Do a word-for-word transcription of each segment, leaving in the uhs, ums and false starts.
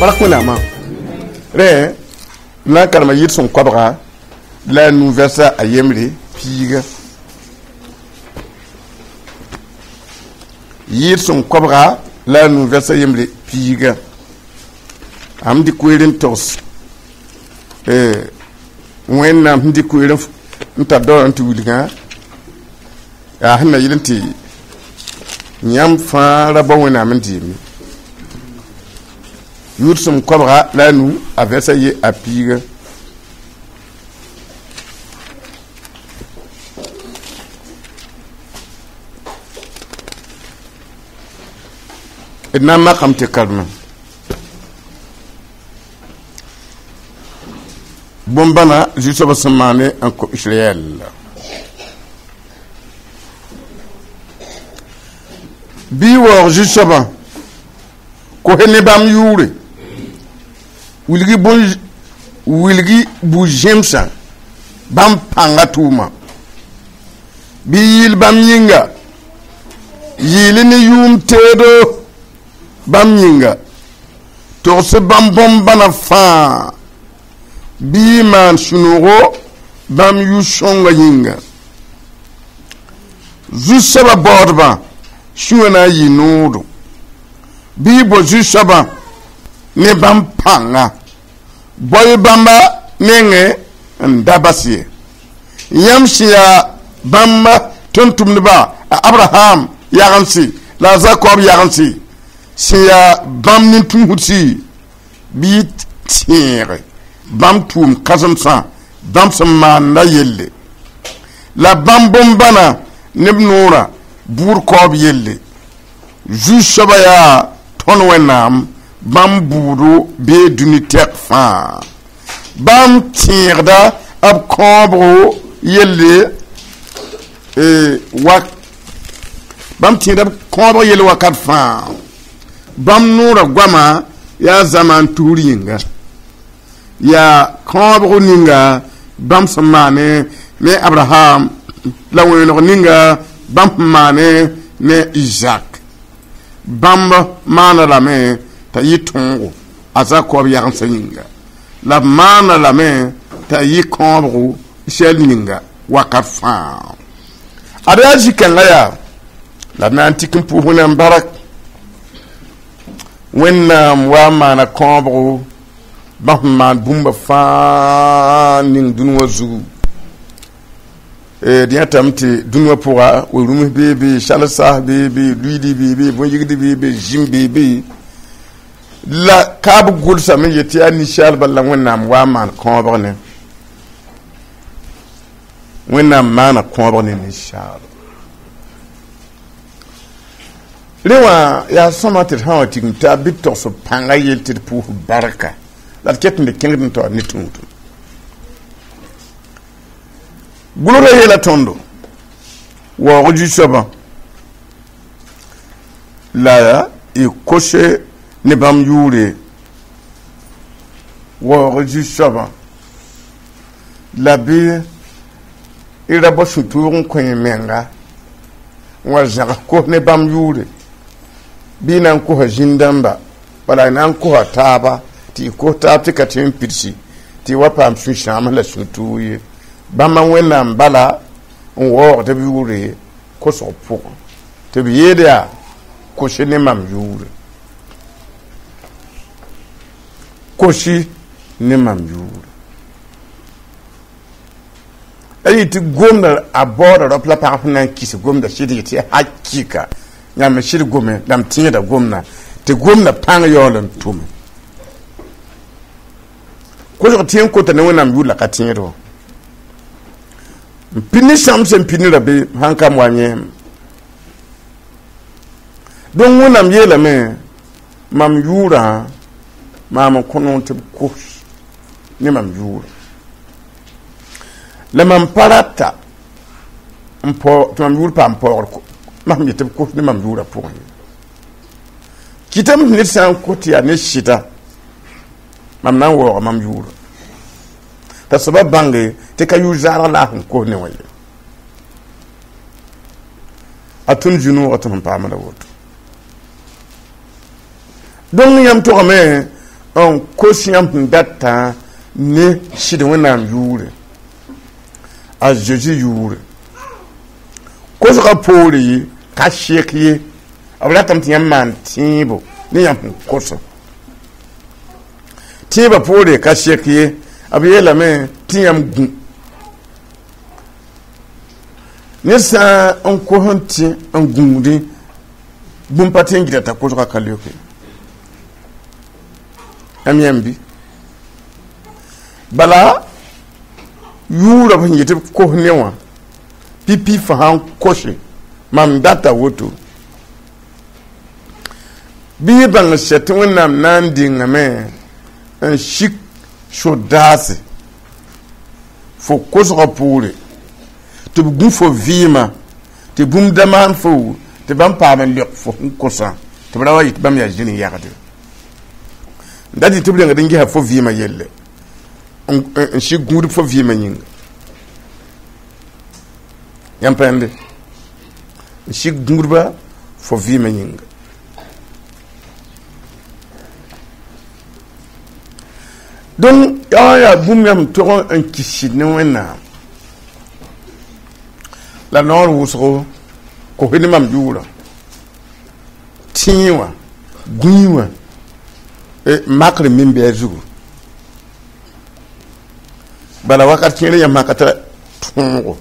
Barak wẽnnaamã rẽ na n karema yɩɩd sẽn koabga la a nu vɛrsa a yembre piiga yɩɩd sẽn koabga la a nu vɛrsa yembre piiga am dɩk koeer n togs wẽnnaam sẽn dɩk koeer n tar daoor n tɩ wilgã yaa sẽn na yɩl n tɩ yãmb fãa ra bao wẽnnaam n deeme yʋʋd sẽn koabga la a nu a vɛrsa ye a piiga d na n makame tɩ karema bõn-bãna zu-soabã sẽn maane n kõ Israɛl bɩ waoog zu-soabã kos ne bãmb yʋʋre wilgi bõn wilgi bu-zẽmsã bãmb pãnga tʋʋma bɩ yɩɩl bãmb yĩnga yɩɩl ne yʋʋm teedo bãmb yĩnga togs bãmb bõn-bãna fãa bɩ y maan sũ-noogo bãmb yʋ-sõnga yĩnga zu-soabã baoodbã sũyã na n yɩ noodo bɩ y bao zu-soabã ne bãmb pãnga bao-y bãmba nengẽ n da bas ye yãmb sẽn yaa bãmba tʋm-tʋmdba a Abraham yagensi la a Zakob yagensi sẽn yaa bãmb nin-tũusdsi bɩ y tẽege bãmb tʋʋm kãsemsã bãmb sẽn maanda yelle la bãmb bõn-bãna ne b noorã bʋʋd kaoob yelle zu-soabã yaa tõnd Wẽnnaam bãmb bʋʋdo bee dũni tɛk fãa bãmb tẽegda b kãobgo yelle wa bãmb tẽegda b kãobg yelle wakat fãa bãmb noorã goama yaa zamaan tusr yĩnga yaa kãobg ninga bãmb sẽn maane ne Abraham la wẽeneg ninga bãmb sẽn maane ne Isaac bãmb maana lame t'a yɩ tõogo a Zakob yagensã yĩnga la b maana lame t'a yɩ kãobgo Israɛl ninga wakat fãa ad yaa zĩ-kãngã yaa la d na n tik n pʋʋs Wẽnnaam barak Wẽnnaam wa n maana kãobgo bãmb sẽn maan bũmba fãa ning dũni wã zugu d yãtame tɩ dũni wã pʋga we-rũms beebe sal-saas beebe luiidi beebe bõn-yigd beebe zĩm beebe la kaab gʋlsame n yet tɩ yaa ninsaalba la Wẽnnaam wa n maan kãobg ne Wẽnnaam maana kãobg ne ninsaalba rẽ wã yaa sõma tɩ d sã wa tigim taab bɩ d togs b pãnga yell tɩ d pʋʋs barka la d ket n de kẽngd n taoor ne tũudum gʋlgrã yeela tõndo waoog zu-soabã la y kose ne bãmb yʋʋre waoog zu-soabã la bɩ y ra bao sũ-tʋʋg n kõ y menga n wa zãgs kos ne bãmb yʋʋre bɩ y na n kosa zĩn-dãmba bala y na n kosa taaba tɩ y kos taab tɩ ka tɩ n pidsi tɩ y wa paam sũ-sãams la sũ-tʋʋg ye bãmba Wẽnnaam bala n waoogd b yʋʋre kosg pʋgẽ tɩ b yeed yaa kosi ne mam yʋʋre kosi ne mam yʋʋre a yɩ tɩ gomda a baooda raop la pagb sẽn na n kis gomda sɩd yetɩ hakɩka yãmb sɩd gome la m tẽeda gomda tɩ gomda pãng yaool n tʋme kosg tɩ n kota ne Wẽnnaam yʋʋr la ka tẽed wã n pid ne sãmb sẽn pid ne ra be sãn kam wa yẽem donc Wẽnnaam yeelame mam yʋʋrã maam n kõ noor tɩ b kos ne mam yʋʋrã la mam pa rata n tɩ mam yʋʋr paam paoogr mam yet tɩ b kos ne mam yʋʋrã pʋgẽ ye kɩtame tɩ ned sã n kos tɩ yaa ne sɩda mam na n waooga mam yʋʋrã t'a soaba bãnge tɩ ka yʋʋr zaarg la a sẽn kos ne wã ye a tũn zu-noogã tɩ sẽn paamda woto donc yãmb togame n kos yãmb sẽn datã ne sɩd Wẽnnaam yʋʋre, a Zeezi yʋʋre. Kosgã poore ye ka sek ye, b ratame tɩ yãmb maan tẽebo ne yãmb sẽn kosã. Tẽebã poore ka sek ye, b yeelame tɩ yãmb gũ. Ned sã n kos n tẽ n gũudẽ, bũmb pa tẽ n gɩda t'a kosgã ka leoke. Yãmb yãmb bɩ? Bala yʋʋra b sẽn yetɩ b kos ne wã, pipi fo sã n kose, mam data woto. Bɩ y bãng sɛ tɩ Wẽnnaam na n dengame n sik sodaase fo kosgã poore, tɩ b gũ fo vɩɩmã, tɩ bũmb da maan fo, tɩ bãmb paam n leok fo sẽn kosã, tɩ b ra wa yɩ tɩ bãmb yaa zĩn yagde. Da dɩ tɩ b rengd n gesa fo vɩɩmã yelle, n sik gũudb fo vɩɩmã yĩnga. Yãmb pãende n sik gũudba fo vɩɩmã yĩnga. Donc yaa yaa bũmb yãmb tog n kis ne Wẽnnaam. La noor wʋsgo kos ne mam yʋʋrã, tẽe wã, gũi wã, makr min bɩ a zugu. Bala wakat kẽer yãmb sã ka tara tõogo,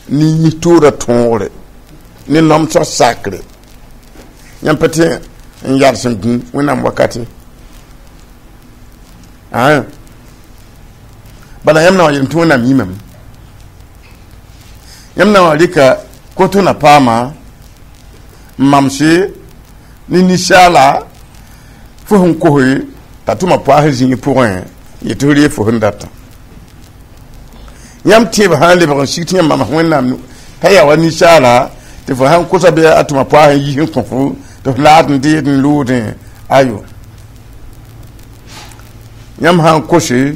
ne yis-toorã tõogre, ne nomsg sakre, yãmb pa tẽ n yals n gũ Wẽnnaam wakate. Bala yãmb na wa yeelame tɩ Wẽnnaam yĩmame. Yãmb na wa rɩka koto na paama n mamse ne ninsaala fo sẽn kose t'a tʋma poaas zĩig pʋgẽ yetɩ f reeg fo sẽn datã. Yãmb tẽeb sã n lebg n sig tɩ yãmb mams Wẽnnaam t'a yaa wa ninsaala tɩ fo sãn kosa bɩ a tʋma poaas n yis n kõ fo tɩ f laad n deed n loodẽ ayo. Yãmb sã n kose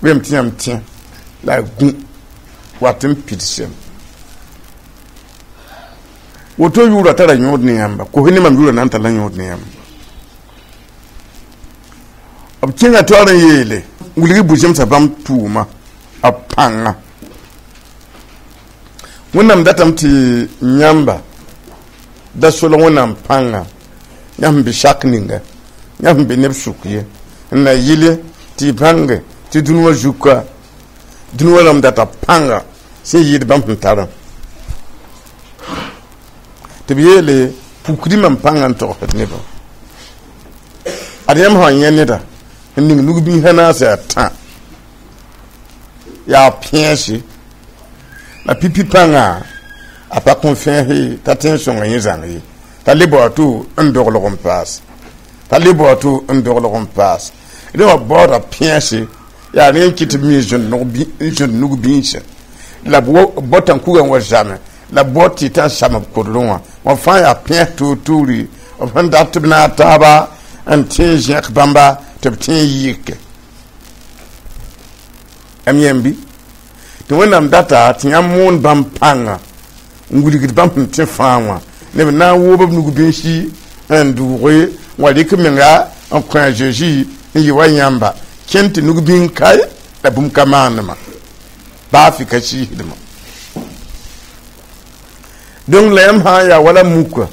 bɩ tɩ yãmb tẽ la gũ wat n pidsem. Woto yʋʋra tara yõod ne yãmba, kos ne mam yʋʋra na n tara yõod ne yãmba. B kẽnga taoor n yeele wilg bu-zẽmsã bãmb tʋʋma b pãnga. Wẽnnaam datame tɩ yãmba da solg Wẽnnaam pãnga, yãmb sẽn be sak ninga, yãmb sẽn be neb sʋk ye, n na yɩle tɩ y bãnge tɩ dũni wã zuka, dũni wã rãmb data pãnga sẽn yɩɩd bãmb sẽn tarã. Tɩ b yeele pukdi mam pãnga n togsd nebã. Ad yãmb sã n yẽ neda n ning nug-biisã naas yaa tã, yaa pẽese, la pipi pãnga a pa kõn fẽes t'a tẽ n sõnga yẽ zãng ye, t'a le bao to n doglg n paas, t'a le bao to n doglg n paas. Rẽ wã baooda pẽese yaa rẽ n kɩt tɩ b mi n zõnd nug-biisã, la b bota n kuga n wa zame, la b baood tɩ t'a n sam b kodrẽ wã. Wã fãa yaa pẽes toor-toori b sẽn dat tɩ b naag taaba n tẽ n zẽk bãmba tɩ b tẽ n yɩke. Yãmb yãmb bɩ? Tɩ Wẽnnaam data tɩ yãmb moon bãmb pãnga n wilgd bãmb sẽn tẽ fãa wã, neb na n woob b nug-bĩnsi n dʋʋge n wa rɩk menga n kõ a Zeezi n yɩ wa yãmba kẽnd tɩ nug-bĩng kae la bũmb ka maandmã, baa fɩ ka sɩɩsdmã. Donc la yãmb sã n yaa wala muka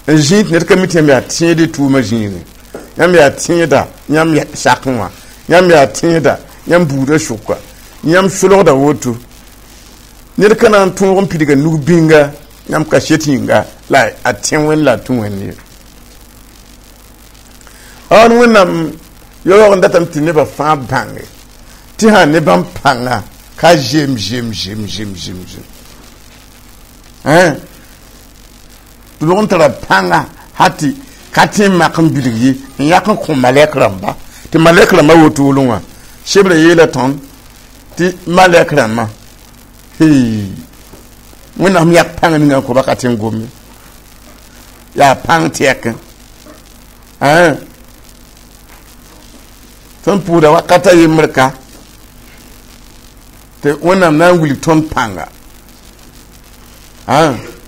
n zĩig tɩ ned ka mi tɩ yãmb yaa tẽed tʋʋmã zĩigẽ, yãmb yaa tẽeda yãmb sakẽ wã, yãmb yaa tẽeda yãmb buudã sʋka, yãmb solgda woto. Ned ka na n tõog n pidga nug-bĩnga yãmb kaset yĩnga la a tẽ Wẽnd la a tũ Wẽnd ye. An Wẽnnaam yaoog n datame tɩ nebã fãa bãnge tɩ sã ne bãmb pãnga ka zem zem zem zem zem zem. Tɩ log n tara pãnga ha tɩ ka tẽ n mak n bilg ye n yãk n kõ malɛk rãmba, tɩ malɛk rãmbã wotolẽ wã sebrã yeela tõnd tɩ malɛk rãmbã Wẽnnaam yak pãng ninga n kõ ba ka tẽ n gome, yaa pãng tɛk. Tõnd pʋʋda wakata yembr ka tɩ Wẽnnaam na n wilg tõnd pãnga.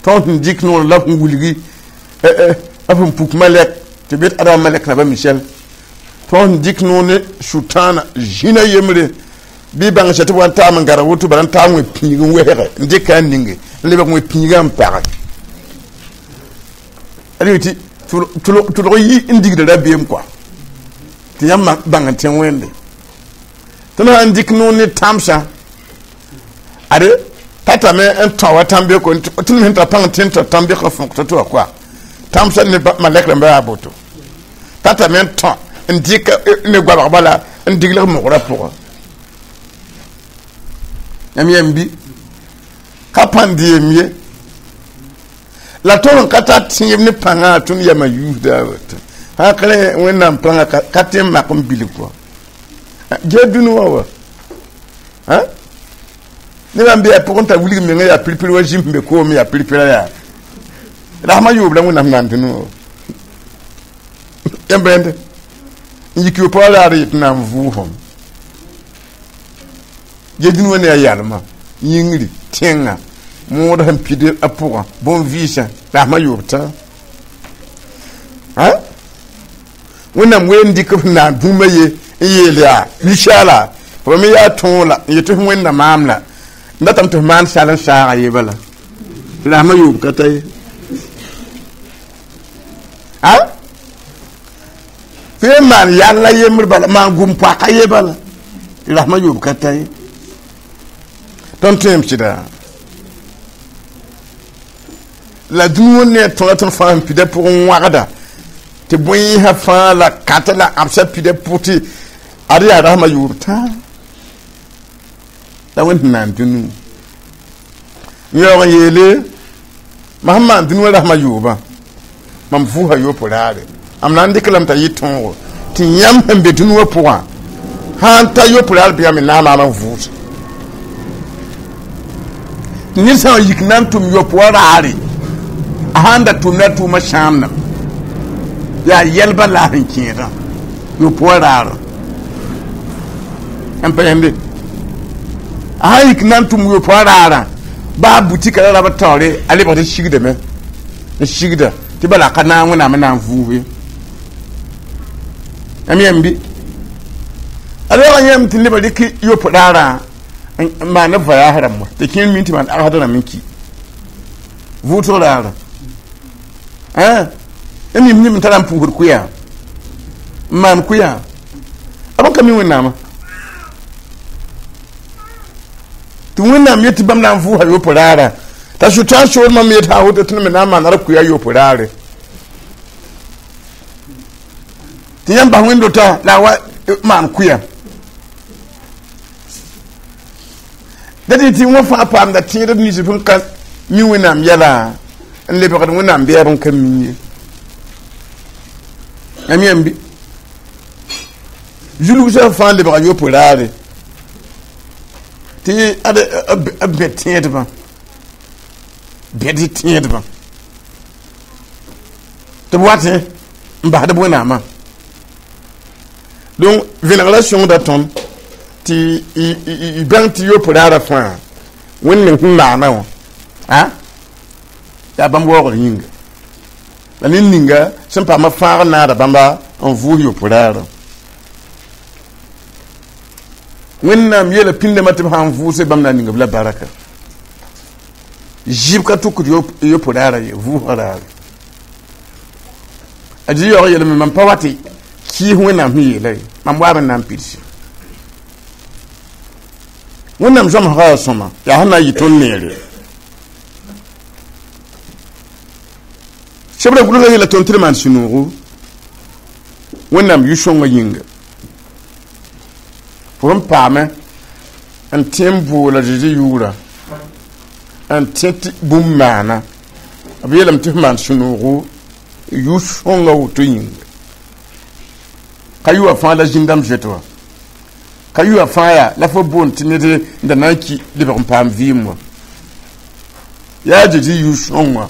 Tõnd sẽn dɩk noor la b sẽn wilgi b sẽn puk malɛk tɩ b yet Adama malɛk naba Michel Tõnd dɩk noor ne sʋtãana zĩna yembre bɩ bãng sã tɩ b wa n taam n gãrg woto bala n taam wẽ pĩig n wesge n dɩka n ninge n lebg wẽ pĩigã n page ad tɩ tʋlg yi n digda rabeem kɔa tɩ yãmb bãng n tẽ wẽnde tõnd sã n dɩk noor ne tãmsã ade tatame n tão wa tãm-beko tõnd me sẽn tar pãng tẽ n tar tãm-bekã fõk to-to wã koa tãmsã ne malɛk rãmba yaa boto tatame n tõ n dɩk ne goabg bala n diglg mogrã pʋgã yãmb yãmb bi ka pãnd yem ye la tõnd n ka tar tẽeb ne pãngã tõnd yama yuusda woto sã ka rẽ wẽnnaam pãngã ka tẽ n mak n bilg kɔa gee dũni wã wa nebã n be yaa pʋgẽ t'a wilg menga yaa pirpir wa zĩm sẽn be koom yaa pirpira yaa rasmã yoob la wẽnnaam naan dũni wã yãmb rẽnd n yik yo-pʋgã raar yet na n vʋʋsem ge dũni wã ne a yalmã yĩngri tẽngã mood sẽn pid a pʋgã bõn-vɩɩsã rasmã yoob tã wẽnnaam ween dɩk f naan bũmba ye n yeel yaa ninsaala f me yaa tõog la n yet tɩ f wẽnda maam la n datame tɩ f maan sal n saaga ye bala rasmã yoob ka ta ye a fo yen maan yalla yembr bala maan gʋm poaka ye bala tɩ rasmã yoob ka ta ye tõnd tõem sɩda la dũni wã ne a tõga tõnd fãa sẽn pida pʋgẽ wãgda tɩ bõe-yẽsã fãa la kata la ãbsã pida pʋg tɩ ad yaa rasmã yoob tãa la wẽnd sẽn naan dũni n yaoog n yeele mam sẽn maan dũni wã rasmã yoobã mam vʋʋsa yopo raare am na n dɩk lame t'a yɩ tõogo tɩ yãmb sẽn be dũni wã pʋgã sã n ta yopo raar bɩ yãmb na n maam n vʋʋs ned sã n yik na n tʋm yopo wã raare a sãn da tʋmda tʋʋma sãamdã yaa yɛlbã la a sẽn kẽedã yopo wã raarã n pa yẽmbe a sãn yik na n tʋm yopo wã raarã baa butika la rab taoore a lebgd n sigdame n sigda tɩ bala ka naag wẽnnaam n na n vʋʋs ye yãmb yãmb bɩ a reoog yãmb tɩ nebã rɩk yopo raarã n maan b voyage rãmb wa tɩ kẽer min tɩ maan agsd rãmb n ki vʋʋsg raarã yãmb yĩm neb n tara n pʋʋsd kʋyã n maan kʋyã a bõn ka mi wẽnnaamã tɩ wẽnnaam yet tɩ bãmb na n vʋʋsa yopo raarã t'a sʋtã soor mam yet sã woto tɩ me na n maana d kʋya yopo raare tɩ yãmb bas wẽnd-dotã la a wa maan kʋya da tɩ tɩ wã fãa paamda tẽedb nins sẽn ka mi wẽnnaam yɛla n lebgd wẽnnaam bɛɛb n ka mi ye yãmb yãmb bɩ zulgsã fãa lebga yopo raare tɩ ad b bẽ tẽedbã bẽd tẽedbã tɩ b watẽ n basd b wẽnnaamã donc vẽnegrã sõngda tõnd tɩ y bãng tɩ yopo raarã fãa wẽnd meng sẽn maana wã a yaa bãmb waoogr yĩnga la ned ninga sẽn paama fãag naada bãmba n vʋʋs yopo raarã wẽnnaam yeela pĩndame tɩ b sã n vʋʋse bãmb na n ning b la baraka zɩb ka tʋkd yopo raarã ye vʋʋsga raare a dɩ yaoog yeelame mam pa wa tɩ kɩɩs wẽnnaam sẽn yeela ye mam waab n na n pidse wẽnnaam zãmsga yaa sõma yaa sẽn na n yɩ tõnd neere sebra gʋlga yeela tõnd tɩ d maan sũ-noogo wẽnnaam yʋ-sõngã yĩnga fo n paame n tẽ n boola Zeezi yʋʋra n tẽ tɩ bũmb maana b yeelame tɩ f maan sũ-noogo yʋ-sõngã woto yĩnga ka yʋa fãa la zĩn-dãmb zoet wã ka yʋa fãa yaa la fo boond tɩ ned n da na n ki lebg n paam vɩɩm wã yaa Zeezi yʋ-sõng wã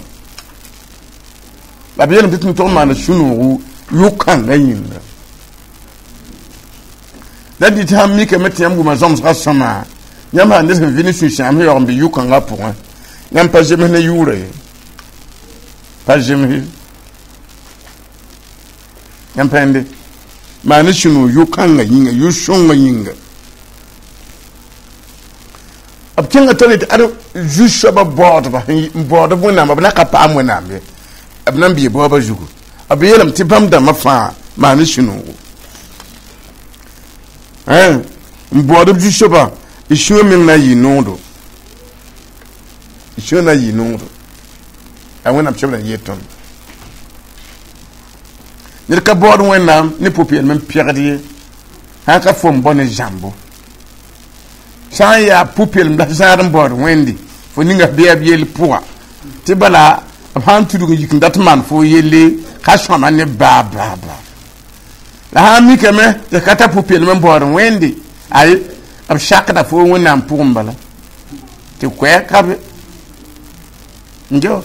la b yeelame tɩ tɩ tog n maana sũ-noogo yʋ-kãngã yĩnga la dɩ tɩ sãn mikame tɩ yãmb wʋma zãmsgã sõma yãmb sã ned sẽn vɩ ne sũ-sãam sẽn yaoog n be yʋ-kãngã pʋgẽ yãmb pa zems ne yʋʋra ye pa zems ye yãmb pa yẽnde Maan sũ-noog yʋ-kãngã yĩnga, yʋ-sõngã yĩnga. B kẽnga tole tɩ ad zu-soabã baoodba n baood b Wẽnnaam, b na ka paam Wẽnnaam ye, b na n bɩ baoobã zugu. B yeelame tɩ bãmb dãmbã fãa maan sũ-noogo n baood b zu-soabã. Y sũyã meng na n yɩ noogdo, y sũyã na n yɩ noogdo. A Wẽnnaam sebr n yeel tõnd ned ka baood Wẽnnaam ne pʋ-peelem n pegd ye, sã n ka fo n bao ne zãmbo. Sã n yaa pʋ-peelem la zãad n baood Wẽnde, fo ninga bɩa b yell pʋga tɩ bala b sãn tudg n yik n dat maan fo yelle ka sõama ne baa baa baa. La sã n mikame tɩ ka tar pʋ-peelem n baood Wẽnde, ay, b sakda fo Wẽnnaam pʋgẽ bala tɩ koɛɛg ka be n geo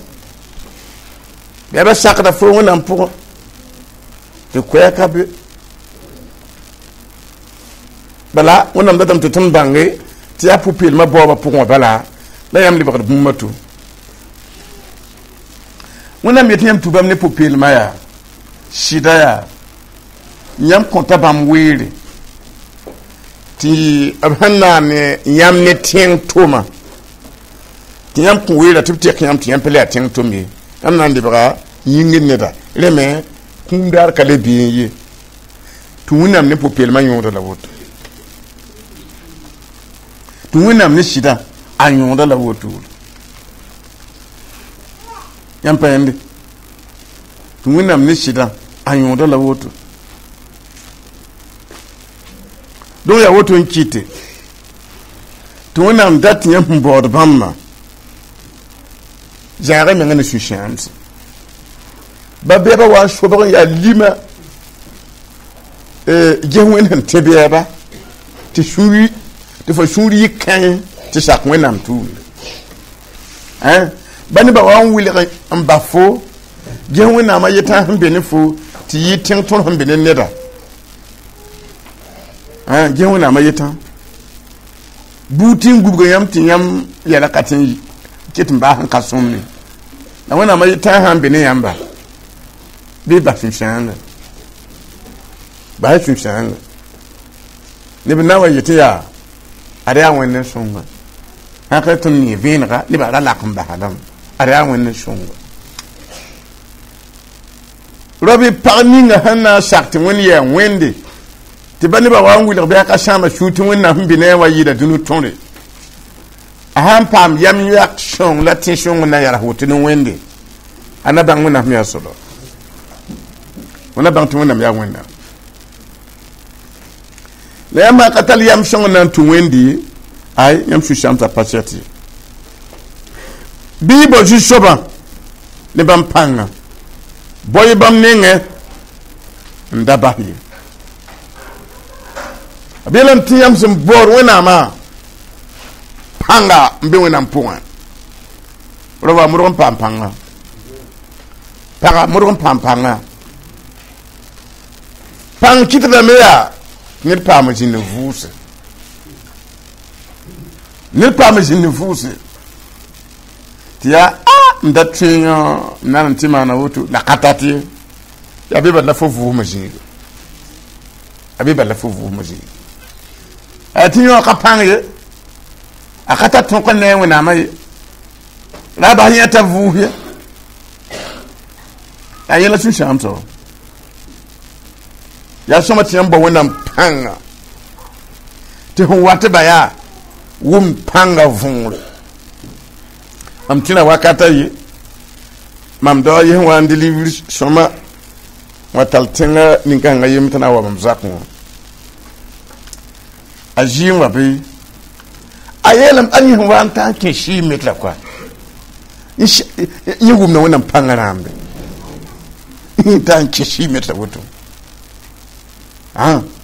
bɩa ba sakda fo Wẽnnaam pʋgẽ tɩ koɛɛg ka be. Bala Wẽnnaam datame tɩ tõnd bãnge tɩ yaa pʋ-peelmã baoobã pʋgẽ wã bala la yãmb lebgd bũmb to. Wẽnnaam yet yãmb tũ bãmb ne pʋ-peelmã yaa sɩda yaa yãmb kõta bãmb weere tɩ b sẽn naan yãmb ne tẽng tʋma tɩ yãmb kõ weera tɩ b tek yãmb tɩ yãmb pa le yaa tẽng tʋm ye, yãmb na n lebga yĩngr neda. Rẽ me kũum daar ka le beẽ ye tɩ Wẽnnaam ne pʋ-peelmã yõoda la woto, tɩ Wẽnnaam ne sɩdã a yõoda la woto. Yãmb pa yẽnde tɩ Wẽnnaam ne sɩdã a yõoda la woto. Donc yaa woto n kɩte tɩ Wẽnnaam dat tɩ yãmb sẽn baood bãmbã zãaga menga ne sũ-sãamse. Ba bɛɛba wa n sobg n yaa lima ges Wẽnd sẽn tẽ bɛɛba tɩ sũuri tɩ fo sũur yɩ kãe tɩ sak Wẽnnaam tʋʋmde. Ba nebã wa n wilg n ba fo ges Wẽnnaamã yetã sẽn be ne fo tɩ yɩ tẽng tõr sẽn be ne neda. Ges Wẽnnaamã yetã buud tɩ n gubga yãmb tɩ yãmb yɛla ka tɩ n ket n baas n ka sõmne. La Wẽnnaamã yetã sã n be ne yãmba bɩ bas sũ-sãanga, bas sũ-sãanga. Neb na n wa yetɩ yaa ad yaa Wẽnd n sõnga, sã ka tõnd nee vẽenega nebã ra lak n basa lame, ad yaa Wẽnd n sõnga. Rabi pag ninga sẽn na n sak tɩ Wẽnd yaa Wẽnde tɩ ba nebã wa n wilg bɩ a ka sãama sũur tɩ Wẽnnaam sẽn be ne a wa yɩɩda dũni tõre. A sãn paam yam yak sõng la tẽ-sõng n na yals woto ne Wẽnde, a na bãng Wẽnnaam yaa soaba, fo na bãng tɩ Wẽnnaam yaa Wẽnnaam. La yãmb ka tall yam sõng n na n tũ Wẽnde, ay, yãmb sũ-sãamsã pa sɛt ye. Bɩ y bao zu-soabã ne bãmb pãnga, bao-y bãmb nengẽ n da bas ye. B yeelame tɩ yãmb sẽn baood Wẽnnaamã pãnga n be Wẽnnaam pʋgẽ. Ra wa modg n paam pãnga, paga modg n paam pãnga. Pãng kɩtdame yaa ned paam zĩnd n vʋʋse, ned paam zĩnd n vʋʋse tɩ yaa a n da tõe n na n tɩ maana woto la ka tat ye. Yaa bɩ bala la fo vʋʋsmã zĩiga, a bɩ bala la fo vʋʋsmã zĩiga. A tɩ yõ ka pãng ye, a ka tar tõk n ne a Wẽnnaamã ye, la a bas yẽ t'a vʋʋs ye. A yẽla sũ-sãam soaba. Yaa sõma tɩ yãmb bao Wẽnnaam pãnga tɩ sẽn wat ba yaa wʋm pãnga võore. Mam tẽra wakata ye mam dao yes wa n delivr sõma wa tall tẽnga nin-kãngã yem tɩ na n wa mam zakẽ wã. A zɩɩm wa bɩ a yeelame a yẽs wa n ta n kẽ sɩɩ metra koa yẽ wʋmda Wẽnnaam pãngã rãambe n ta n kẽ sɩɩ metra woto.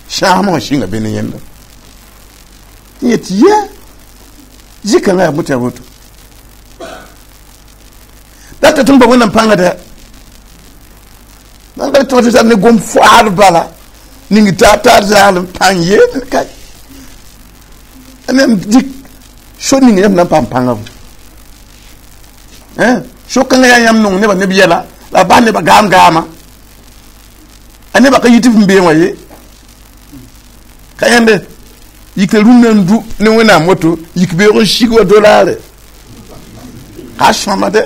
Sãasmã wã sɩnga be ne yẽnda n yet yɛ zĩ-kãngã yaa bõe tɩ yaa woto. Data tɩ n bao Wẽnnaam pãnga dɛ nan ka tɩ tɩ ne gom foaad bala ning taab taab zaalem pãng yeel ka nem dik so ning yãmb na n paam pãnga so-kãngã yaa yãmb nong nebã neb yɛla la a bas nebã gaam gaama a nebã ka yit f n beẽ wã ye. Ka yãnde yik rũndã n du ne Wẽnnaam woto yik beoog n sig wa dolaare ka sõama dɛ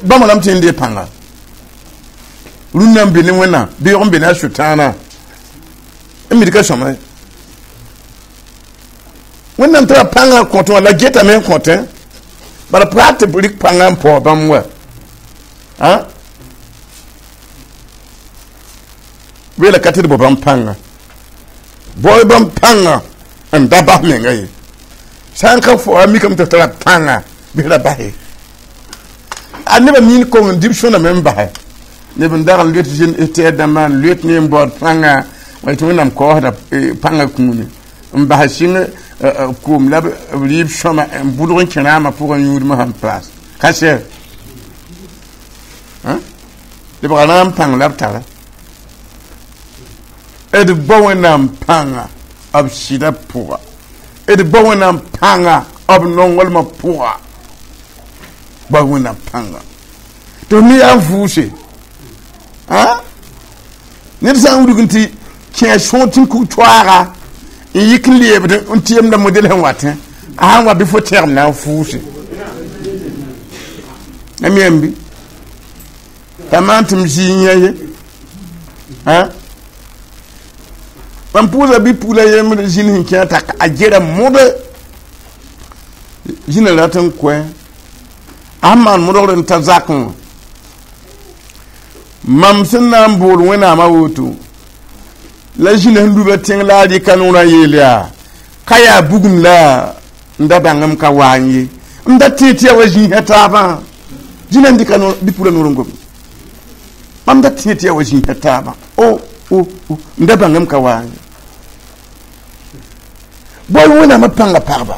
bãmba rãmb tɩ n dee pãnga rũndã n be ne Wẽnnaam beoog n be ne a sʋtãana n mid ka sõma ye Wẽnnaam tara pãngã kõt wã la getame n kõtẽ bala pa tɩ b rɩk pãngã n paoog bãmb wa weela ka tɩ d bao bãmb pãnga bao bãmb pãnga n da bas menga ye sã n ka fo a mikame tɩ f tara pãnga bɩ ra bas ye a nebã miin kong n dib sõname n basɛ neb n dag n loet tɛɛd dãmbã n loet ne n baood pãnga wa tɩ Wẽnnaam kaoosda pãnga kũuni n bas sɩng koom la b rɩɩb sõma n bʋdg n kẽ rãamã pʋgã yũudmã sẽn paas ka sɛ lebga rãam pãng la b tara d bao Wẽnnaam pãnga b sɩdã pʋga d bao Wẽnnaam pãnga b nonglmã pʋga bao Wẽnnaam pãnga tɩ f me yaa n vʋʋse ned sã n wudg n tɩ kẽ sõor tɩ n kug toaaga n yik n leebd n tɩ yemda model sẽn watẽ a sãn wa bɩ fo tẽgem na n fʋʋse a mi yãmb bɩ t'a maan tɩ m zɩ yã ye mam pʋʋsa bɩ pugla yembr zĩn sẽn kẽ t'a a gera modẽ zĩna rat n koɛ a sẽn maan modgr n ta zakẽ wã mam sẽn na n bool Wẽnnaamã woto la zĩna sẽn luba tẽng la a rɩka noorã yeel yaa ka yaa bugum la n da bãngem ka waa n ye n da tẽeg tɩ yaa wa zĩisã taabã zĩna n dɩka bɩ pugla noor n gom mam da tẽeg tɩ yaa wa zĩisã taabã o o o n da bãngem ka waa n ye bao Wẽnnaamã pãnga pagba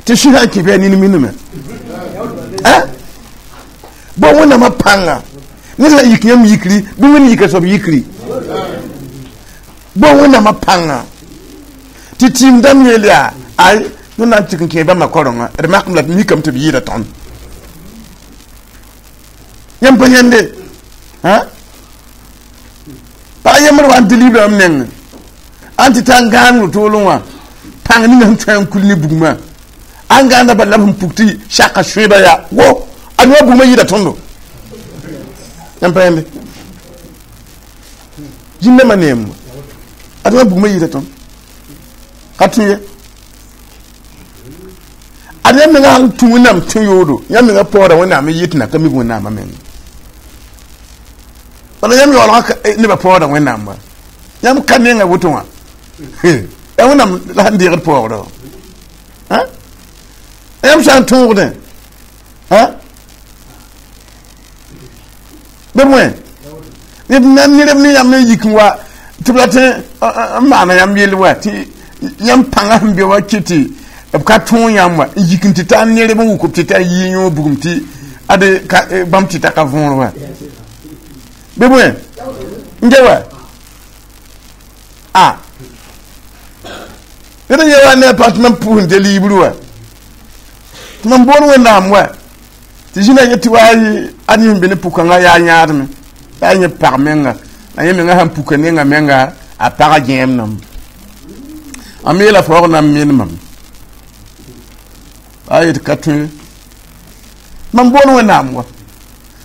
tɩ sũsã n kẽ bɩ a nin minime bao Wẽnnaamã pãnga ned sã n yik yãmb yikri bɩ Wẽnd yika soab yikri bao Wẽnnaamã pãnga tɩ tɩɩm dãmb yeel yaa ay tõnd na n tɩk n kẽe bãmba kaorengã d makem la mikame tɩ b yɩɩda tõnd yãmb pa yãnde pag yembr wa n tɩ libra m neng an tɩ ta n gãan wotolẽ wã pãng ninga sẽn tõe n kul ne bugmã an gãanda bala b sẽn puk tɩ saka sõeba yaa wo a noa bugmã yɩɩda tõndo yãmb pa yãnde zĩndãmbã neem a noa bugmã yɩɩda tõnd ka tũ ye ad yãmb menga sãn tũ Wẽnnaam tũ yoodo yãmb menga paooda Wẽnnaam n yɩ tɩ na ka mik Wẽnnaamã meng bala yãmb yaoolgã nebã paooda Wẽnnaam wa yãmb ka nenga woto wã yaa Wẽnnaam la sẽn deegd paoogdã yãmb sã n tõogdẽ bɩ bõe ned na ned ne yãmb n yik n wa tɩ b rat n maana yãmb yell wa tɩ yãmb pãngã sẽn be wa kɩ tɩ b ka tõog yãmb wa n yik n tɩ taa nerb n wʋk b tɩ taa yɩ yõog bugum tɩ ad bãmb tɩ ta ka võor wa bɩ bõe n ge wa a ned n ye wa ne a pag tɩ mam pʋʋs n de liibr wa tɩ mam bool Wẽnnaam wa tɩ zĩna ye tɩ wa ad yẽ sẽn be ne pʋkãngã yaa yãadme yaa yẽ pag menga la yẽ menga sãn puka nenga menga a pagã gẽem a me yeela faoog na n meen mam a yet ka tõe mam bool Wẽnnaam wa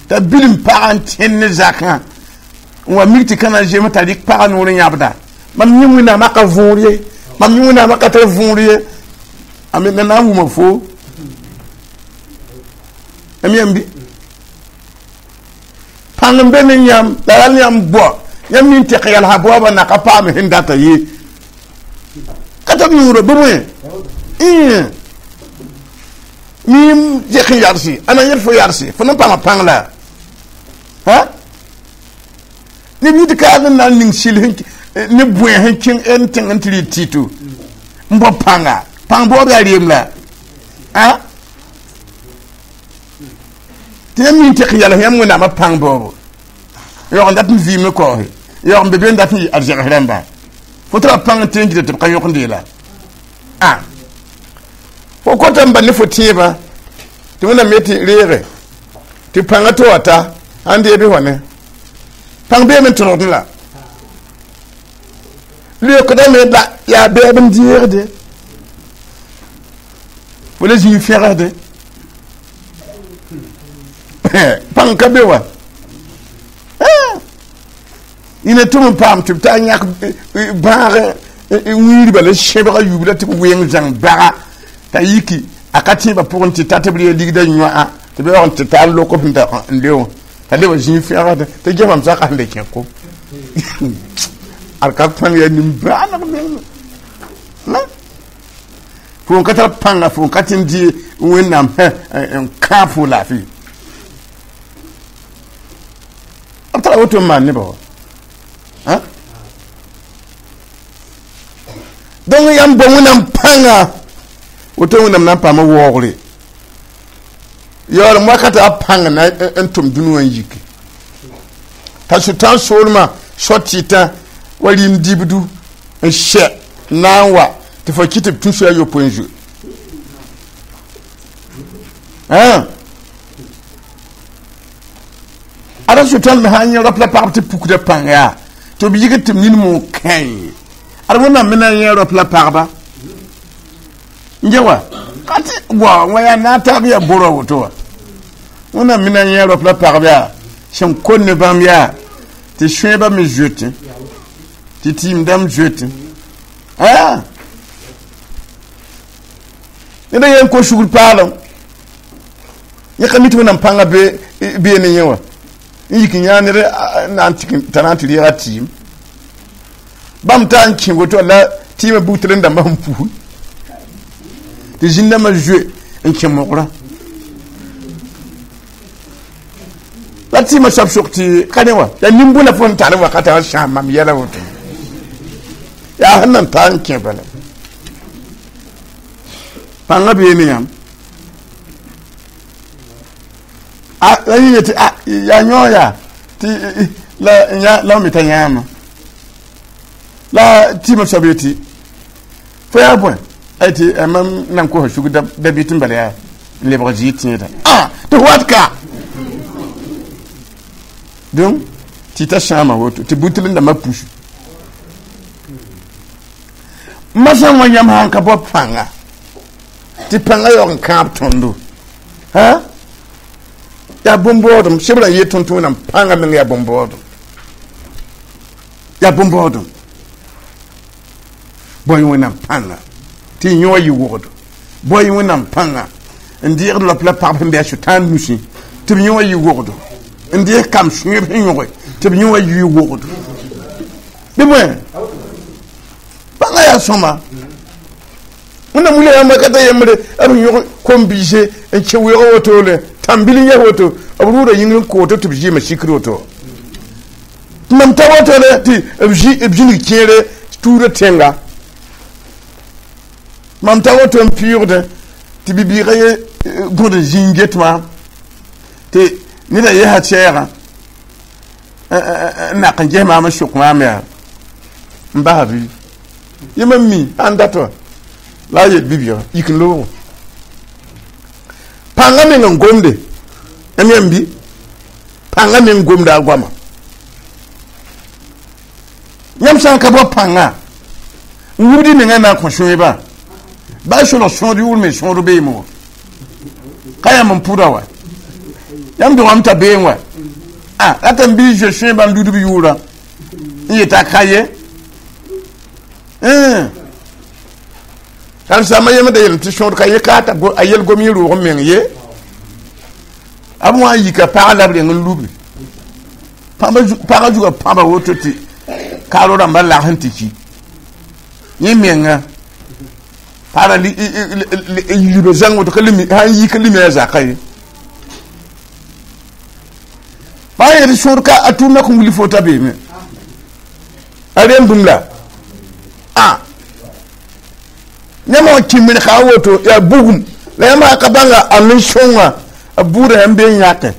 t'a bilim pagã n tẽnd ne zakã n wa mik tɩ ka na zem t'a rɩk pagã noor n yãbda mam yẽ Wẽnnaamã ka võor ye mam yẽ Wẽnnaamã ka tar võor ye a me na n wʋma foo am yãmb bɩ pãng n be ne yãmb la ral yãmb bao yãmb nin tɛk yalsã baoobã na ka paam sẽn data ye ka tar yũurã bɩ bõe miim zek n yadse a na yet fo yadse fo na n paama pãng la neb yit kaag n na n ning sɩl ne bõe sẽn kẽng n tẽng n tɩ rɩ tɩto n bao pãnga pãng baoob yaa reem la tɩ yãmb nin tɛk yals yãmb Wẽnnaamã pãng baoobo yaoog n dat n vɩɩm ne kaoose yaoog n be be n dat n yɩ arzegs rãmba fo tara pãng n tẽ n gita tɩ b ka yõkend yeela a fo kota n ba ne fo tẽebã tɩ Wẽnnaam ye tɩ reege tɩ pãngã tɩ wa ta sãn dee bɩ wa ne pãng beeme n tõdgdẽ la Leookdame la yaa bɛɛb n deegde fo la zĩig fẽgsde pãng ka be wa ina tʋm n paam tɩ b taa yãk bãag wĩirba la sẽbga yuub la tɩ b weng zãng baga t'a yiki a ka tẽebã pʋgẽ tɩ ta tɩ b ree ligda yõa tɩ b yaoog n tɩ tar lok b n le wã t'a le wa zĩig fẽgsde tɩ gefam saka sẽn le kẽ ko ad ka pãng yaa nimbãaneg meng fo n ka tar pãnga fo n ka tɩ n dɩ wẽnnaam n kãab fo laafɩ b tara woto n maan nebã wa donc yãmb bao wẽnnaam pãnga woto wẽnnaam na n paama waoogre yaoolem wakata a pãng na n tʋm dũni wã n yiki t'a sʋtãan soolmã sɔ tɩtã wa rɩɩm dibdu n sɛ na n wa tɩ fo kɩ tɩ b tũ soa yopoe n zoe ada sʋtãan me sã n yẽ rap la pagb tɩ pukda pãng yaa tɩ b yɩgd tɩ b nin mo kãe ad wẽnnaam me na n yẽ rap la pagba n ge wa ka tɩ wa wã yaa na n taab yaa bora woto wa wẽnnaam me na n yẽ rap la pagb yaa sẽn kon ne bãmb yaa tɩ sõeba me zoetẽ tɩ tɩɩm dãmb zoetẽ ned a yen ko sugr paalem yẽ ka mi tɩ wẽnnaam pãngã bee ne yẽ wã n yik n yãag ned t'a na n tɩ reega tɩɩm bãmb taa n kẽ woto la tɩɩmã bugtr n dãmbã sẽn pusi tɩ zĩn-dãmbã zoe n kẽ mogrã la tɩɩmã soab sok tɩ ka ne wã yaa nin-bõna fo sẽn tar wakatã wã sãam mam yɛla woto yaa sẽn nan taa n kẽ bala pãngã bee ne yãmb la yẽ yetɩ yaa yõ yaa tɩ la la me t'a yãama la tɩɩmã soab yetɩ fo yaa bõe a yetɩ mam nan kosa sug da bɩt n bala yaa n lebg zɩɩ tẽeda tɩ f wat ka donc tɩ t'a sãama woto tɩ butl n dãmbã pusu masã wã yãmb sãn ka bao pãnga tɩ pãngã yaoog n kãab tõndo yaa bõn-baoodem sebrã yet tõnd tɩ wẽnnaam pãngã meng yaa bõn-baoodem yaa bõn-baoodem bao-y wẽnnaam pãnga tɩ y yõ yɩ wogdo bao-y wẽnnaam pãnga n deegd lap la pagb sẽn be a sʋtãan nusẽ tɩ b yõ yɩ wogdo n deeg kam sõeb sẽn yõge tɩ b yõ yɩ wogdo bɩ bõe pãngã yaa sõma wẽnnaam wilga yãmb wakata yembre b yõg kom-biise n kẽ weoog wotole tãmbil n yaa woto b rʋʋda yĩngr n kooto tɩ b zɩɩmã sikr woto mam ta wotole tɩ b zĩnig kẽere tuurã tẽnga mam ta woto n pɩʋʋgdẽ tɩ bibiigã ye gõd n zĩng get maam tɩ neda yesa sɛɛgã n nak n ges maam n sok maam yaa n basa bɩ yẽ mam mi sã n dat wã la a yel bibiigã yik n looogo pãngã meng n gomde yãmb yãmb bɩ pãngã meng gomda a goama yãmb sã n ka bao pãnga n wubd y mengã na n kõ sõeba baa solg sõod yʋʋr me sõod beeme wã ka yãmb n pʋda wa yãmb dogame t'a beẽ wa rata n bɩ zoe sõeba n ludb yʋʋrã n yeta ka ye karen-saambã yemd a yelem tɩ sõod ka ye ka t'a a yel gom yẽ roog n meng ye b wã n yika pagã la b reng n lubi pagã zugã pãba woto tɩ kaaro rãmbã lags n tɩ ki yẽ menga pagã liba zãng woto sã n yik lime a zaka ye pagã yetɩ sõod ka a tʋʋmda kõn wilg fo t'a beeme a rem bũmb la yãmb wã kĩ mirka a woto yaa bugum la yãmb sã ka bãnga a me sõnga a buudã yãmb bee n yãke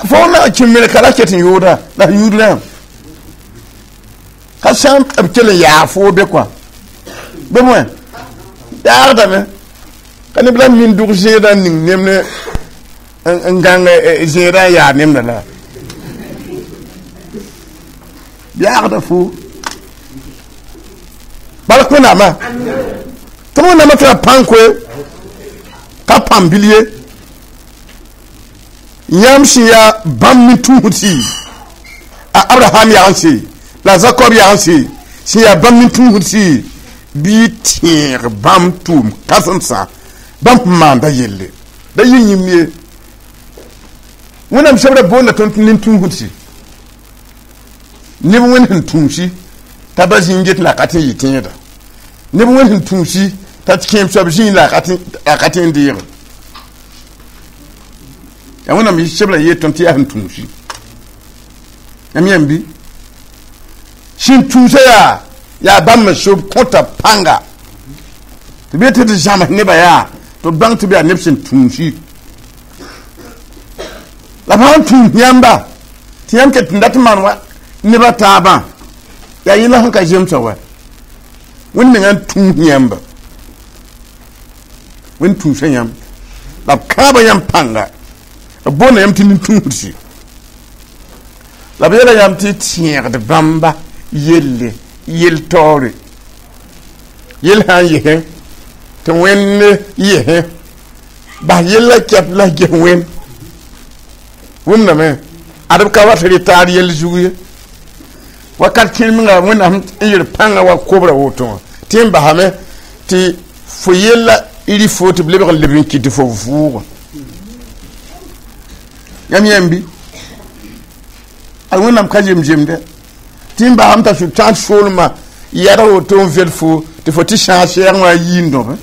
fo na kĩ mirka la ket n yooda la f yũud rãmb ka sã n b kell n yaa foo be kɔa bɩ bõe yaagdame ka neb la min dʋg zẽedã n ning nemd n gãng zẽedã n yaa nemda la Yaagda fo bark Wẽnnaamã tɩ Wẽnnaamã tara pãng koe ka pãmb bil ye yãmb sẽn yaa bãmb nin-tũusdsi a Abraham yagense la Zakob yagense sẽn yaa bãmb nin-tũusdsi bɩ tẽeg bãmb tʋʋm kãsemsã bãmb sẽn maanda yelle da yɩ yĩmb ye Wẽnnaam sebra boonda tõnd nin-tũusdsi neb wẽnd sẽn tũusi t'a ba zĩig get la a ka tɩ n yɩ tẽeda neb wẽnd sẽn tũusi t'a kẽem soab zĩig la a ka tɩ n deege yaa Wẽnnaam sebra yeel tõnd tɩ yaa sẽn tũusi yãmb yãmb bɩ sẽn tũusa yaa yaa bãmb n sob kõta pãnga tɩ bɩ tɩ d zãms nebã yaa tɩ b bãng tɩ b yaa neb sẽn tũusi la fãa n tũus yãmba tɩ yãmb ket n dat n maan wa neba taabã yaa yẽla sẽn ka zemsa wa Wẽnd mengã n tũus yãmba Wẽnd tũusa yãmb la b kãaba yãmb pãnga b boonda yãmb tɩ nin-tũusdsi la b yeela yãmb tɩ tẽegd bãmba yelle yel taoore yel sã n yesẽ tɩ Wẽnd yesẽ bas yella kɛp la ges Wẽnd wʋmdame ad b ka wat rɩ taar yell zug ye wakat kẽer menga Wẽnnaam n yel pãngã wa kobra woto wã tɩ n basame tɩ fo yella rɩ fo tɩ b lebg n leb n kɩt tɩ fo vʋʋgã yãmb yãmb bɩ ad Wẽnnaam ka zem-zemdɛ tɩ n basame t'a sʋtãan soolmã yɛd woto n vel fo tɩ fo tɩ sãag sɛɛg wã yiindõbe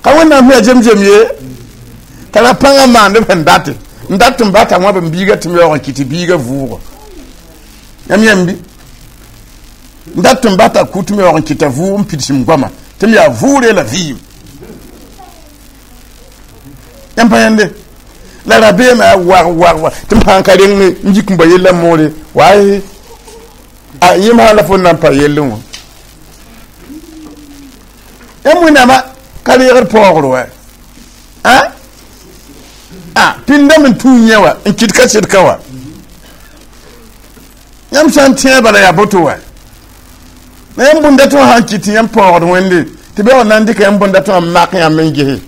ka Wẽnnaam sẽn yaa zem-zem ye t'a ra pãngã maand b sẽn date n dat n bata wã b n biiga tɩ m yaoog n kɩt tɩ biiga vʋʋga yãmb yãmb bɩ n dat n bata ku tɩ m yaoog n kɩta vʋʋg n pidsem goama tɩ m yaa vʋʋre la vɩɩm yãmb pa yãnde la rabeemã yaa wag wag wag tɩ m sãn ka reng n yik n ba yella moore waay a yẽm sã la fo n na n pa yellẽ wã yãmb Wẽnnaamã ka reegd paoogr wa a a pĩndame n tũu yẽ wa n kɩt ka sɩd ka wa yãmb sã n tẽe bala yaa boto wa la yãmb bũnda tɩ wã sãn kɩt tɩ yãmb paoogd Wẽnde tɩ bɩ na n dɩka yãmb bũnda tɩ wã n mak yãmb n gese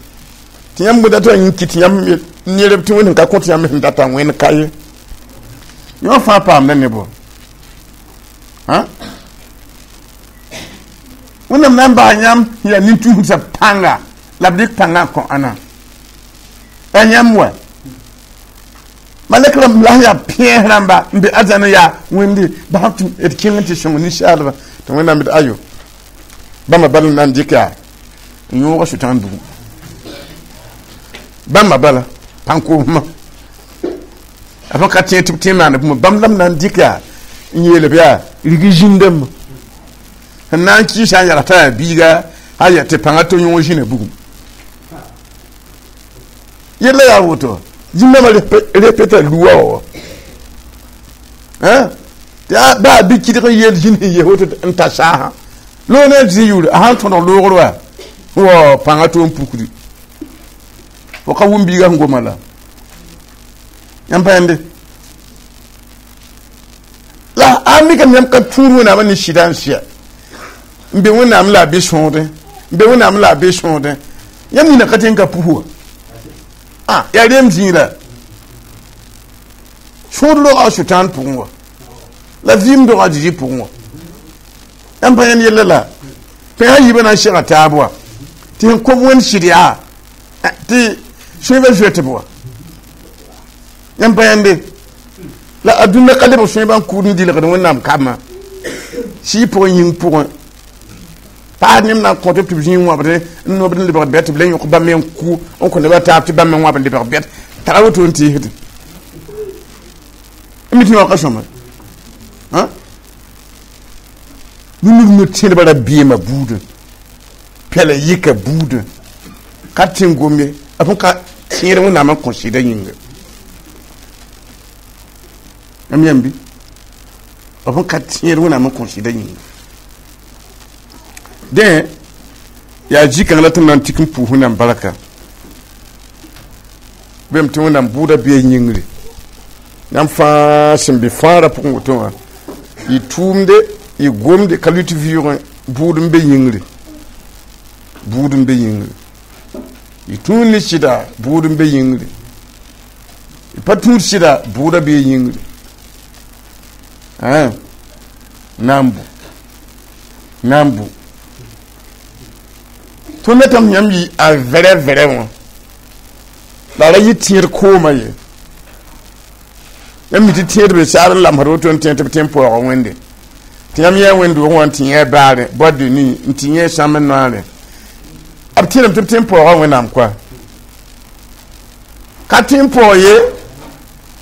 tɩ yãmb bũnda tɩ wã n kɩt yãmb nerb tɩ Wẽnd sẽn ka kõt yãmb sẽn data Wẽnd ka ye yõ fãa paamda ne bo Wẽnnaam na n bas yãmb yaa nin-tũusã pãnga la b dɩk pãngã n kõ ãna yaa yãmb wa malɛk rãmb la sẽn yaa pẽes rãmba n be arzãn yaa Wẽnde bas tɩ d kẽng n tɩ sõng ninsaalba tɩ Wẽnnaam d ayo bãmba bal n na n dɩk yaa n yõoga sʋtãan dugum bãmba bala pãn-koosmã a fõ ka tẽ tɩ b tẽ maand bũmb bãmb la b na n dɩk yaa n yeel b yaa rig zĩndame sẽn na n kɩɩsa n yagsa yaa biiga a ya tɩ pãngã tɩ yõog zĩna bugum yella yaa woto zĩndãmã repeta luwa wa tɩ baa bɩ kɩdg n yeel zĩnd sẽn yes woto n ta saasã loog ne zĩ yʋʋre a sãn tõdg loogr wa wa pãngã to n pukdi fo ka wʋm biiga sẽn goma la yãmb pa yãnde la a mikame yãmb ka tũud Wẽnnaamã ne sɩda n sɩa n be Wẽnnaam la a be sõodẽ n be Wẽnnaam la a be sõodẽ yãmb nina ka tẽ n ka pus wa a yaa reem zĩig la sõod roga a sʋtãan pʋgẽ wa la vɩɩm doga a Zezi pʋgẽ wa yãmb pa yãnd yella la pẽsa yiibã na n sega taab wa tɩ sẽn kob Wẽnd sɩd yaa tɩ sõeba zoet b wa yãmb pa yãnde la a dũnna ka lebg sõeba n kʋʋd n dilgd Wẽnnaam kambã sɩɩ pʋgẽ yĩng pʋgẽ paas neb na n kõt tɩ b zĩig wãbdẽ n nobd n lebg bɛt tɩ b le yõk bãmb me n kʋ n kõ nebã taab tɩ bãmb me wãb n lebg bɛt tara woto n teesdẽ n mi tɩ yõka sõma rũmb no tẽdbã rabeemã buudẽ pɛla yika buudẽ ka tẽ n gom ye a fõ ka tẽed Wẽnnaam n kõ sɩdã yĩnga yãmb yãmb bɩ a fõ ka tẽed Wẽnnaam n kõ sɩdã yĩnga dẽ yaa zĩ-kãng la tɩ m na n tik n pʋʋs Wẽnnaam barka bem tɩ Wẽnnaam bʋʋda bɩa yĩngre Yãmb fãa sẽn be fãagrã pʋgẽ woto wã, y tʋʋmde, y gomde ka lʋɩt vɩʋʋgẽ. Bʋʋd n be yĩngre, bʋʋd n be yĩngre. Y tũud ne sɩda, bʋʋd n be yĩngre. Y pa tũud sɩda, bʋʋda bee yĩngre. Na n bu, na n bu. Tõnd datame yãmb yɩ a vɛrɛ vɛrɛ wã, la ra yɩ tẽed koomã ye. Yãmb mi tɩ tẽedbe saar n lamsd woto n tẽ tɩ b tẽ n paooga Wẽnde, tɩ yãmb yã wẽnd-doogẽ wã n tɩ yẽ baare, boîte de nuit, n tɩ yẽ sãmb noare. B tẽedame tɩ b tẽ n paooga Wẽnnaam koa, ka tẽ n paoog ye.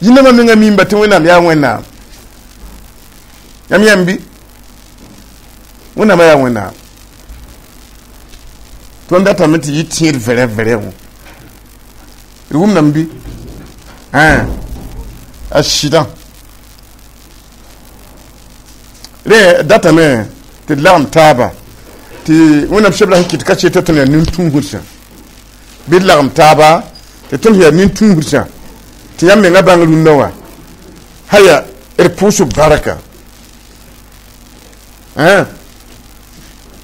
Yĩnãmã menga mimba tɩ Wẽnnaam yaa Wẽnnaam. Yãmb yãmb bɩ Wẽnnaamã yaa Wẽnnaam. Tõnd datame tɩ yɩ tẽed vɛrɛ vɛrɛ wã. D wʋmdame bɩ a sɩdã rẽ datame tɩ d lagem taaba tɩ Wẽnnaam sebra sẽn kɩt ka tɩ tõnd yaa nin-tũusdsã. Bɩ d lagem taaba tɩ tõnd yaa nin-tũusdsã, tɩ yãmb menga bãng rũndã wã haya d pʋʋsb barka.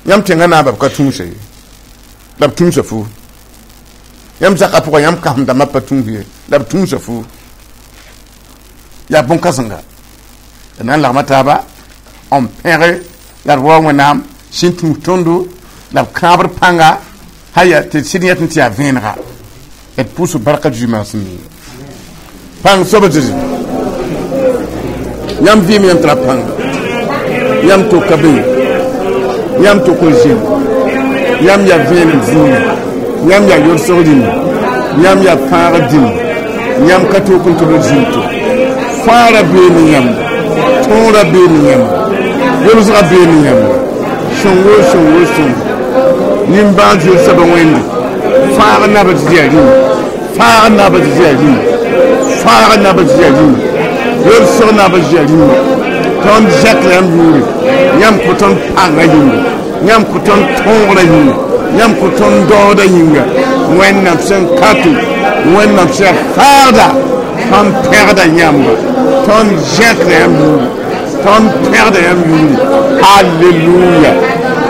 Yãmb tẽngã naaba b ka tũusa ye, la b tũusa fo. Yãmb zakã pʋgã, yãmb kãsem dãmbã pa tũus ye, la b tũusa fo. Yaa bõn-kãsenga d na n lagma taaba n pẽge la d wa Wẽnnaam sẽn tũus tõndo la b kãabr pãnga haya tɩ sɩd yẽt n tɩ yaa vẽenega. D pʋʋsb barka Zu-maasem yĩnga. Pãng soab zɩ yãmb vɩɩm, yãmb tara pãnga, yãmb toka be, yãmb tok n zĩnd, yãmb yaa vẽenem zĩigã, yãmb yaa yolsg rĩmba, yãmb yaa fãagr dĩmba, yãmb ka tok n tɩ b zĩnd to. Fãagrã bee ne yãmba, tõorã bee ne yãmba, yolsgã bee ne yãmba. Sõngo, sõngo, sõngo. Nimbãan-zoe soaba Wẽnde, fãagr naba tɩ yaa rĩmba, fãagr naba tɩ yaa rĩmba, fãagr naba tɩ yaa rĩmba, yolsg naba tɩ yaa rĩmba. Tõnd zãk yãmb yʋʋre, yãmb kõ tõnd pãngã yĩnga, yãmb kõ tõnd tõogrã yĩnga, yãmb kõ tõnd daooda yĩnga. Wẽnnaam sẽn kato, Wẽnnaam sẽn faagda, tõnd pẽgda yãmba, tõnd zẽkda yãmb yʋʋre, tõnd pẽgda yãmb yʋʋre. Halleluya,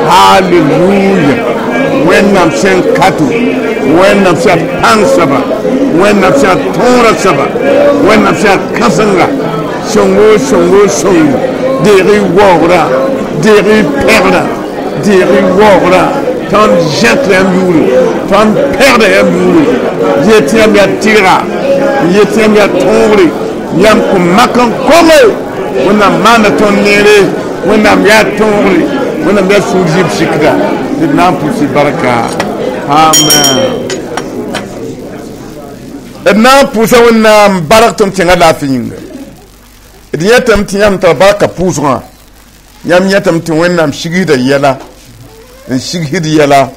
halleluya. Wẽnnaam sẽn kato, Wẽnnaam sẽn pãng soaba, Wẽnnaam sẽn tõora soaba, Wẽnnaam sẽn kãsenga. Sõngo, sõngo, sõngo. Deeg y waoogrã, deeg y pẽgrã, deeg y waoogrã. Tõnd zẽkda yãmb yʋʋre, tõnd pẽgda yãmb yʋʋre. Yet tɩ yãmb yaa tɩrga, yet tɩ yãmb yaa tõogre, yãmb kõ mak n konge. Wẽnnaam maanda tõnd neere, Wẽnnaam yaa tõogre, Wẽnnaam yaa sũur zɩb sikda. D na n pʋʋs barka. Amen. D na n pʋʋsa Wẽnnaam bark tɩ m tẽngã laafɩ yĩnga. D yẽtame tɩ yãmb tara barka pʋʋsgã. Yãmb yẽtame tɩ Wẽnnaam sigsda yɛla, n sigsd yɛla.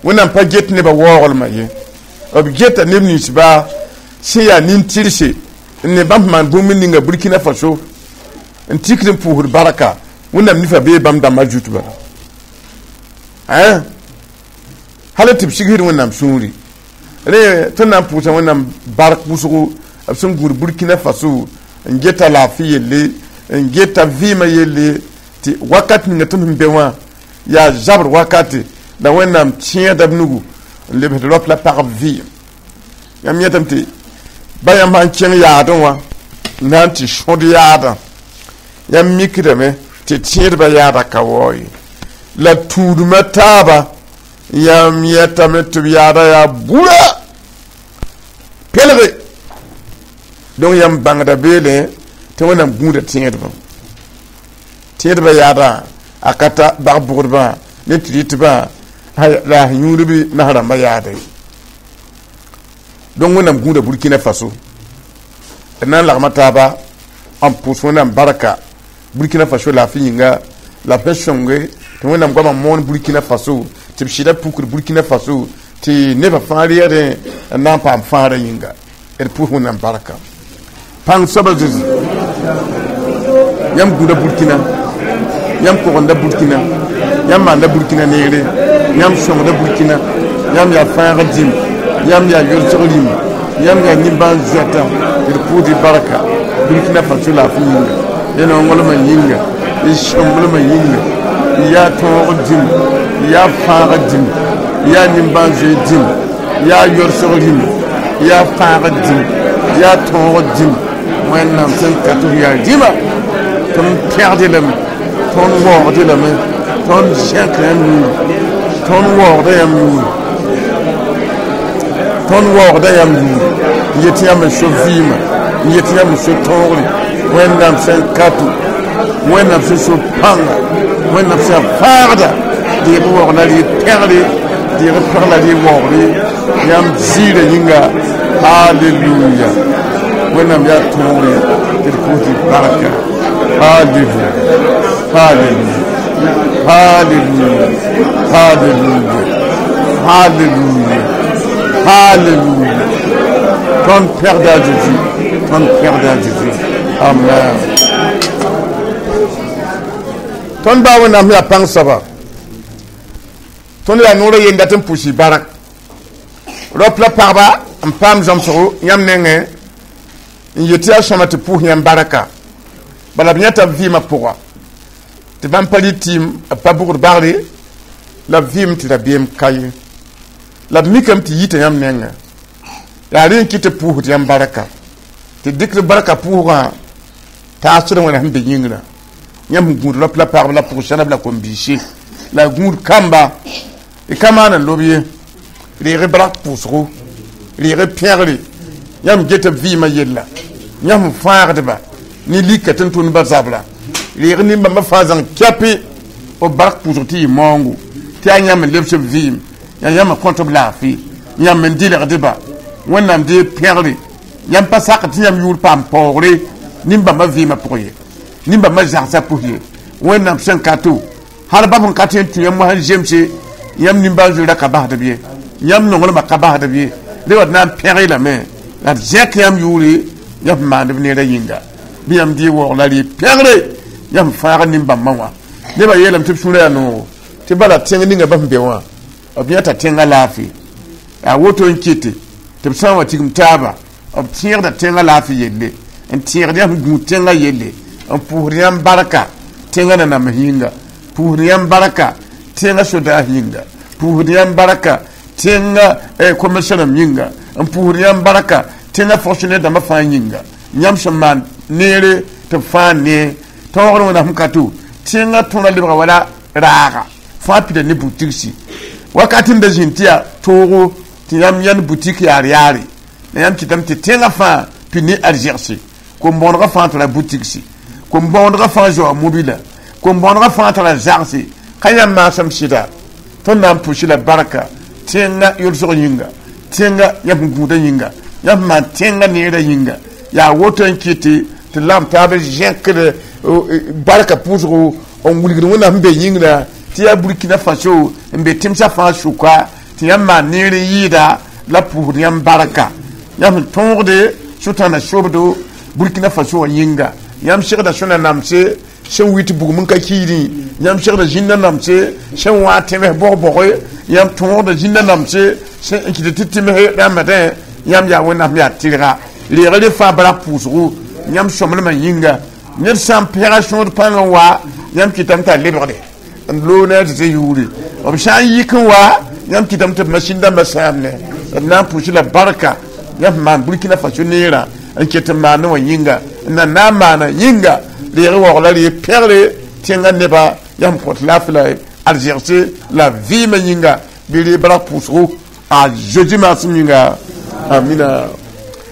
Wẽnnaam pa get nebã waooglmã ye, b geta neb ninsba sẽn yaa nin-tɩrse n ne bãmb maan bũmb ninga Burkina Faso n tikd n pʋʋsd barka. Wẽnnaam nifa bee bãmb dãmbã zut bala hal tɩ b sigsd Wẽnnaam sũuri. Rẽ tõnd na n pʋʋsa Wẽnnaam bark wʋsgo b sẽn gũud Burkina Faso n geta laafɩ yelle, n geta vɩɩmã yelle, tɩ wakat ninga tõnd sẽn be wã yaa zabr wakate, la Wẽnnaam tẽeda b nugu n lebsd raop la pagb vɩɩm. Yãmb yẽtame tɩ ba yãmb sãn kẽng yaadẽ wã na n tɩ sõd yaadã, yãmb mikdame tɩ tẽedbã yaada ka wao ye, la tũudmã taaba yãmb yẽtame tɩ b yaada yaa bura pelge. Donc yãmb bãngda beele tɩ Wẽnnaam gũuda tẽedbã. Tẽedbã yaada a ka ta bag bʋgdbã ne tɩ rɩtbã la a yũudb nas rãmbã yaada ye. Donc Wẽnnaam gũuda Burkina Faso. D na n lagma taaba n pʋʋs Wẽnnaam barka Burkina Faso laafɩ yĩnga, la b sẽn sõnge tɩ Wẽnnaam goamã moon Burkina Faso, tɩ b sɩda pukd Burkina Faso, tɩ nebã fãa reegdẽ n na n paam fãagrã yĩnga. D pʋʋs Wẽnnaam barka. Pãng soaba Zezi, yãmb gũuda Burkina, yãmb kogenda Burkina, yãmb maanda Burkina neere, yãmb sõngda Burkina, yãmb yaa fãagr dĩm, yãmb yaa yolsg rĩmba, yãmb yaa nimbãan-zoɛtã. D pʋʋsd barka. Burkina Faso laafɩ yĩnga y nonglmã yĩnga y sõmblmã yĩnga yaa tõog dĩm yaa fãag dĩm yaa nimbãan-zoe dĩm yaa yorsg rĩm yaa fãag dĩm yaa tõog dĩm Wẽnnaam sẽn ka tɩ f yaa rĩma tõnd pẽgd lame tõnd waoogd lame tõnd zẽk yãmb yũur tõnd waoogda yãmb yũur tõnd waoogda yãmb yũur n yet yãmb n so vɩɩmã n yet yãmb n so tõogre Wẽnnaam sẽn ka tɩ Wẽnnaam sẽn so pãnga Wẽnnaam sẽn fãagda deeg waoog la rɩ pẽgre deeg pẽg la rɩ waoogre yãmb ziirã yĩnga halleluya Wẽnnaam yaa tõogre tɩ d pʋʋs tɩ barka halleluya halleluya halleluya halleluya halleluya halleluya tõnd pẽgda a Zeezi tõnd pẽgda a Zeezi amen tõnd baa Wẽnnaam yaa pãng soaba tõnd yaa noorã yenda tɩ n pʋʋs barak rap la pagba n paam zãmsgo yãmb nengẽ n yet yaa sõma tɩ pʋʋs yãmb baraka bala b yãta b vɩɩmã pʋga tɩ bãmb pa rɩ tɩɩm b pa bʋgd bagre la b vɩɩm tɩ rabeem ka ye la b mikame tɩ yita yãmb nengẽ yaa rẽ n kɩ tɩ pʋʋsd yãmb baraka tɩ dɩkd barka pʋʋsgã taasd wẽna sẽn be yĩngrã yãmb sẽn gũud rap la pagb la pʋg-sẽneb la kom-biise la gũud kamba y ka maan n lob ye reeg barak pʋʋsgo reeg pẽgre yãmb get b vɩɩmã yella yãmb sẽn fãagdba ne lika tɩ n tʋndba zabra reeg nin-bãmbã fãa zãng kɛpe b barak pʋʋsg tɩ yɩ maoongo tɩ yaa yãmb n lebs b vɩɩm yaa yãmb n kõt b laafɩ yãmb n dɩlgdba Wẽnnaam dee pẽgre yãmb pa sak tɩ yãmb yʋʋr paam paoogre nin-bãmbã vɩɩmã pʋgẽ ye nin-bãmbã zagsã pʋs ye Wẽnnaam sẽn ka to hal bãmb sẽn ka tɩ n tũ yãmb mosã n zemse yãmb nimbãan-zoeera ka basd b ye yãmb nonglmã ka basd b ye re wa d na n pẽg lame la d zẽk yãmb yʋʋre yãmb sẽn maand b neerã yĩnga bɩ yãmb dɩ waoog la rɩ pẽgre yãmb fãag nin-bãmbã wã nebã yeelame tɩ b sũurã yaa noogo tɩ bala tẽng ninga ba sẽn be wã b yãta tẽngã laafɩ yaa woto n kɩte tɩ b sã n wa tigim taaba b tẽegda tẽngã laafɩ yelle n tẽegd yãmb sẽn gũud tẽngã yelle n pʋʋsd yãmb barka tẽngã nanams yĩnga pʋʋsd yãmb barka tẽngã sodaas yĩnga pʋʋsd yãmb barka tẽngã commissaire yĩnga n pʋʋsd yãmb barka tẽngã fonctionnaire dãmbã fãa yĩnga yãmb sẽn maan neere tɩ b fãa nee tõogr wẽnnaam sẽn ka to tẽngã tõra lebga wala raaga fãa pida ne butigsi wakat n da zĩnd tɩ yaa toogo tɩ yãmb yãnd butik yaar yaare la yãmb kɩtame tɩ tẽngã fãa pid ne arzɛgse kom-bõonegã fãa tara butigsi kom-bõonegã fãa zoa mobila kom-bõonegã fãa tara zagse ka yãmb maasem sɩda tõnd na n pʋʋs la barka tẽngã yolsg yĩnga tẽngã yãmb sẽn gũudã yĩnga yãmb sẽn maan tẽngã neerã yĩnga yaa woto n kɩte tɩ lagm taab zẽkd barka pʋʋsgo n wilgd Wẽnnaam sẽn be yĩngrã tɩ yaa Burkina Faso n be tẽmsã fãa sʋka tɩ yãmb maan neer n yɩɩda la pʋʋsd yãmb barka yãmb sẽn tõogde sʋtãna sobdo Burkina Faso wã yĩnga yãmb segda sõna namse sẽn wit bugum n ka kiidẽ yãmb segda zĩnda namse sẽn wã tẽms bog-boge yãmb tõogda zĩnda namse sẽn kɩt tɩ tẽms rãmbdẽ yãmb yaa Wẽnnaam yaa tɩrga reeg re fãa barak pʋʋsgo yãmb sõmblmã yĩnga ned sã n pẽga sõod pãng n wa yãmb kɩtame t'a lebgde n loog ne a Zezi yʋʋre b sã n yik n wa yãmb kɩtame tɩ b masin dãmbã sãamne d na n pʋʋs la barka yãmb sẽn maan Burkina Faso neerã n ket n maane wã yĩnga n na na n maana yĩnga reeg waoog la ree pẽgre tẽngã neba yãmb kõt laafɩ la arzɛgse la vɩɩmã yĩnga bɩ ree barak pʋʋsgo a Zezi maasem yĩnga amina.